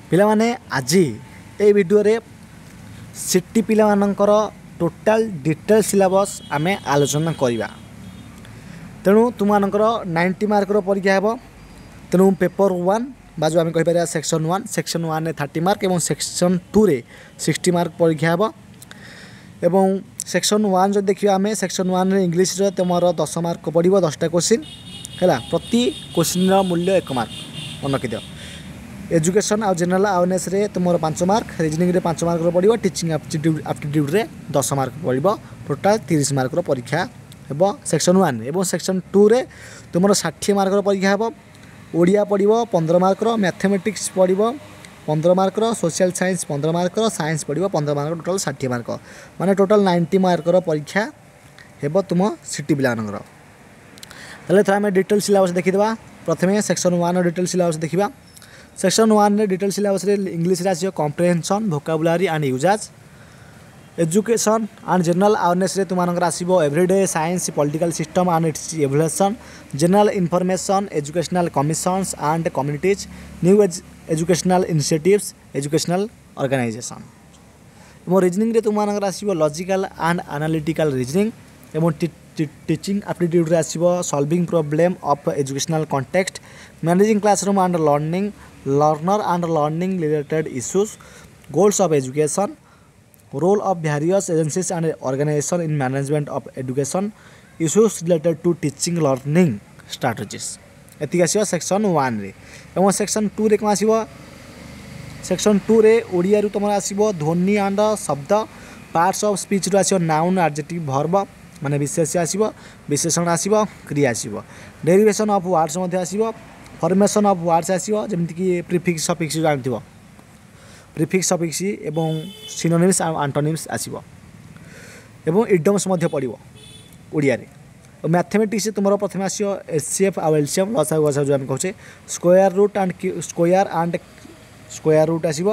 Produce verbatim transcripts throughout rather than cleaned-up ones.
ପିଲାମାନେ ଆଜି ଏଇ ଭିଡ଼ିଓରେ ସିଟି ପିଲାମାନଙ୍କର ଟୋଟାଲ୍ ଡିଟେଲ୍ ସିଲାବସ୍ ଆମେ ଆଲୋଚନା କରିବା ତେଣୁ ତୁମମାନଙ୍କର ନାଇଣ୍ଟି ମାର୍କର ପରୀକ୍ଷା ହେବ ତେଣୁ ପେପର୍ ୱାନ୍ ବା ଯେଉଁ ଆମେ କହିପାରିବା ସେକ୍ସନ୍ ୱାନ୍ ସେକ୍ସନ୍ ୱାନ୍ରେ ଥାର୍ଟି ମାର୍କ ଏବଂ ସେକ୍ସନ୍ ଟୁରେ ସିକ୍ସଟି ମାର୍କ ପରୀକ୍ଷା ହେବ ଏବଂ ସେକ୍ସନ୍ ୱାନ୍ ଯଦି ଦେଖିବା ଆମେ ସେକ୍ସନ୍ ୱାନ୍ରେ ଇଂଲିଶରେ ତୁମର ଦଶ ମାର୍କ ପଡ଼ିବ ଦଶଟା କୋଶ୍ଚିନ୍ ହେଲା ପ୍ରତି କୋଶ୍ଚିନ୍ର ମୂଲ୍ୟ ଏକ ମାର୍କ ମନେ ରଖିଦିଅ ଏଜୁକେସନ୍ ଆଉ ଜେନେରାଲ୍ ଆୱାରନେସ୍ରେ ତୁମର ପାଞ୍ଚ ମାର୍କ ରିଜନିଂରେ ପାଞ୍ଚ ମାର୍କର ପଡ଼ିବ ଟିଚିଂ ଆପ୍ଟିଟ୍ୟୁଡ଼୍ ଆପ୍ଟିଟ୍ୟୁଡ଼୍ରେ ଦଶ ମାର୍କ ପଡ଼ିବ ଟୋଟାଲ୍ ତିରିଶ ମାର୍କର ପରୀକ୍ଷା ହେବ ସେକ୍ସନ୍ ୱାନ୍ ଏବଂ ସେକ୍ସନ୍ ଟୁରେ ତୁମର ଷାଠିଏ ମାର୍କର ପରୀକ୍ଷା ହେବ ଓଡ଼ିଆ ପଡ଼ିବ ପନ୍ଦର ମାର୍କର ମ୍ୟାଥମେଟିକ୍ସ ପଡ଼ିବ ପନ୍ଦର ମାର୍କର ସୋସିଆଲ୍ ସାଇନ୍ସ ପନ୍ଦର ମାର୍କର ସାଇନ୍ସ ପଡ଼ିବ ପନ୍ଦର ମାର୍କ ଟୋଟାଲ୍ ଷାଠିଏ ମାର୍କ ମାନେ ଟୋଟାଲ୍ ନାଇଣ୍ଟି ମାର୍କର ପରୀକ୍ଷା ହେବ ତୁମ ସିଟି ପିଲାମାନଙ୍କର ତାହେଲେ ଏଥର ଆମେ ଡିଟେଲ୍ ସିଲାବସ୍ ଦେଖିଦେବା ପ୍ରଥମେ ସେକ୍ସନ୍ ୱାନ୍ର ଡିଟେଲ୍ ସିଲାବସ୍ ଦେଖିବା ସେକ୍ସନ୍ ୱାନ୍ରେ ଡିଟେଲ୍ ସିଲାବସ୍ରେ ଇଂଲିଶରେ ଆସିବ comprehension vocabulary and usage education and general ଆୱାରନେସ୍ରେ ତୁମମାନଙ୍କର ଆସିବ everyday science political system and its evolution general information educational commissions and committees new educational initiatives educational organization ଏବଂ ରିଜନିଂରେ ତୁମମାନଙ୍କର ଆସିବ ଲଜିକାଲ୍ ଆଣ୍ଡ ଆନାଲିଟିକାଲ୍ ରିଜନିଂ ଏବଂ teaching ଆପ୍ଟିଟ୍ୟୁଡ଼୍ରେ ଆସିବ solving problem of educational context managing classroom and learning learner and learning related issues goals of education role of various agencies and organization in management of education issues related to teaching learning strategies ଏତିକି ଆସିବ section ୱାନ୍ରେ ଏବଂ section ଟୁରେ କ'ଣ ଆସିବ section ଟୁରେ ଓଡ଼ିଆରୁ ତୁମର ଆସିବ ଧ୍ୱନି ଆଣ୍ଡ ଶବ୍ଦ ପାର୍ଟସ୍ ଅଫ୍ ସ୍ପିଚ୍ରୁ ଆସିବ ନାଉନ୍ ଆଡ଼ଜେକ୍ଟିଭ୍ ଭର୍ବ ମାନେ ବିଶେଷ୍ୟ ଆସିବ ବିଶେଷଣ ଆସିବ କ୍ରିୟା ଆସିବ ଡେରିଭେସନ୍ ଅଫ୍ ୱାର୍ଡ଼ସ୍ ମଧ୍ୟ ଆସିବ ଫର୍ମେସନ୍ ଅଫ୍ ୱାର୍ଡ଼ସ୍ ଆସିବ ଯେମିତିକି ପ୍ରିଫିକ୍ସ ସଫିକ୍ସ ଜାଣିଥିବ ପ୍ରିଫିକ୍ସ ସଫିକ୍ସ ଏବଂ ସିନୋନିମ୍ସ ଆଉ ଆଣ୍ଟୋନିମ୍ସ ଆସିବ ଏବଂ ଇଡିୟମ୍ସ ମଧ୍ୟ ପଡ଼ିବ ଓଡ଼ିଆରେ ମ୍ୟାଥମେଟିକ୍ସ ତୁମର ପ୍ରଥମେ ଆସିବ ଏଚ୍ ସି ଏଫ୍ ଆଉ ଏଲ୍ ସି ଏମ୍ ଲସାଗୁ ଗସାଗୁ ଯେଉଁ ଆମେ କହୁଛେ square root and square and square root ଆସିବ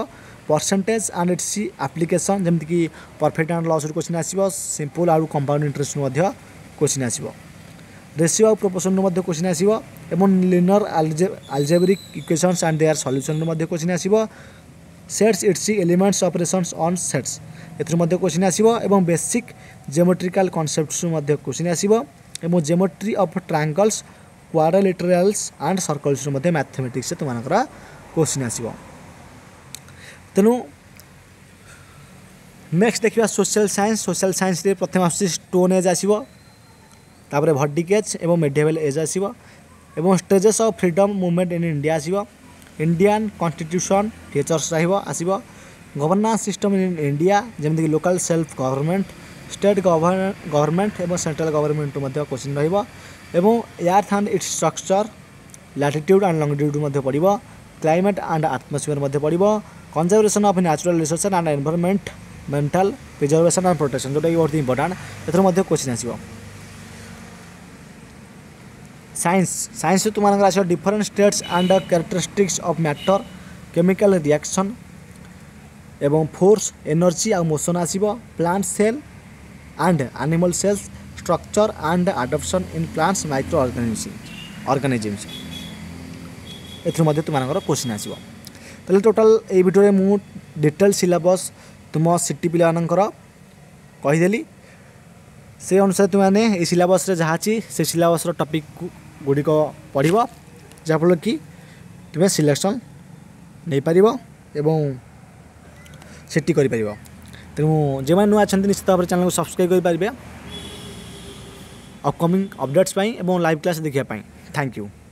ପରସେଣ୍ଟେଜ୍ ଆଣ୍ଡ it's application ଯେମିତିକି ପ୍ରଫିଟ୍ ଆଣ୍ଡ ଲସ୍ରୁ କୋଶ୍ଚିନ୍ ଆସିବ ସିମ୍ପଲ୍ ଆଉ କମ୍ପାଉଣ୍ଡ ଇଣ୍ଟରେଷ୍ଟରୁ ମଧ୍ୟ କୋଶ୍ଚିନ୍ ଆସିବ ରେସିଓ ଆଉ ପ୍ରୋପୋର୍ସନ୍ରୁ ମଧ୍ୟ କୋଶ୍ଚିନ୍ ଆସିବ ଏବଂ linear algebraic equations and their ସଲ୍ୟୁସନ୍ରୁ ମଧ୍ୟ କୋଶ୍ଚିନ୍ ଆସିବ sets its elements operations on sets ଏଥିରୁ ମଧ୍ୟ କୋଶ୍ଚିନ୍ ଆସିବ ଏବଂ ବେସିକ୍ ଜିଓମେଟ୍ରିକାଲ୍ କନସେପ୍ଟସରୁ ମଧ୍ୟ କୋଶ୍ଚିନ୍ ଆସିବ ଏବଂ ଜିଓମେଟ୍ରି ଅଫ୍ ଟ୍ରାଙ୍ଗଲ୍ସ କ୍ୱାଡ୍ରିଲାଟେରାଲ୍ସ ଆଣ୍ଡ ସର୍କଲ୍ସରୁ ମଧ୍ୟ ମ୍ୟାଥମେଟିକ୍ସରେ ତୁମମାନଙ୍କର କୋଶ୍ଚିନ୍ ଆସିବ ତେଣୁ ନେକ୍ସଟ ଦେଖିବା ସୋସିଆଲ୍ ସାଇନ୍ସ ସୋସିଆଲ୍ ସାଇନ୍ସରେ ପ୍ରଥମେ ଆସୁଛି ଷ୍ଟୋନ୍ ଏଜ୍ ଆସିବ ତାପରେ ଭେଦିକ୍ ଏଜ୍ ଏବଂ ମେଡିଭାଲ୍ ଏଜ୍ ଆସିବ ଏବଂ stages of freedom movement in India ଆସିବ ଇଣ୍ଡିଆନ୍ କନଷ୍ଟିଟ୍ୟୁସନ୍ ଫିଚର୍ସ ରହିବ ଆସିବ ଗଭର୍ଣ୍ଣାନ୍ସ ସିଷ୍ଟମ୍ ଇନ୍ ଇଣ୍ଡିଆ ଯେମିତିକି local self government state government ଏବଂ ସେଣ୍ଟ୍ରାଲ୍ ଗଭର୍ଣ୍ଣମେଣ୍ଟରୁ ମଧ୍ୟ କୋଶ୍ଚିନ୍ ରହିବ ଏବଂ earth and its structure latitude and longitude ମଧ୍ୟ ପଡ଼ିବ କ୍ଲାଇମେଟ୍ ଆଣ୍ଡ ଆଟମୋସ୍ଫିୟର ମଧ୍ୟ ପଡ଼ିବ conservation of natural resource and environmental preservation and protection ଯେଉଁଟାକି ବହୁତ ଇମ୍ପୋର୍ଟାଣ୍ଟ ଏଥିରୁ ମଧ୍ୟ କୋଶ୍ଚିନ୍ ଆସିବ ସାଇନ୍ସ ସାଇନ୍ସ ତୁମମାନଙ୍କର ଆସିବ different states and characteristics of matter chemical reaction ଏବଂ ଫୋର୍ସ ଏନର୍ଜି ଆଉ ମୋସନ୍ ଆସିବ plant cell and animal cells structure and adaptation in plants micro organism organisms ଏଥିରୁ ମଧ୍ୟ ତୁମମାନଙ୍କର କୋଶ୍ଚିନ୍ ଆସିବ ତାହେଲେ ଟୋଟାଲ୍ ଏଇ ଭିଡ଼ିଓରେ ମୁଁ ଡିଟେଲ୍ ସିଲାବସ୍ ତୁମ ସିଟି ପିଲାମାନଙ୍କର କହିଦେଲି ସେ ଅନୁସାରେ ତୁମେମାନେ ଏଇ ସିଲାବସ୍ରେ ଯାହା ଅଛି ସେ ସିଲାବସ୍ର ଟପିକ୍ ଗୁଡ଼ିକ ପଢ଼ିବ ଯାହାଫଳରେ କି ତୁମେ ସିଲେକ୍ସନ୍ ନେଇପାରିବ ଏବଂ ସିଟି କରିପାରିବ ତେଣୁ ଯେଉଁମାନେ ନୂଆ ଅଛନ୍ତି ନିଶ୍ଚିତ ଭାବରେ ଚ୍ୟାନେଲକୁ ସବସ୍କ୍ରାଇବ୍ କରିପାରିବେ ଅପକମିଂ ଅପଡ଼େଟ୍ସ ପାଇଁ ଏବଂ ଲାଇଭ୍ କ୍ଲାସ୍ ଦେଖିବା ପାଇଁ thank you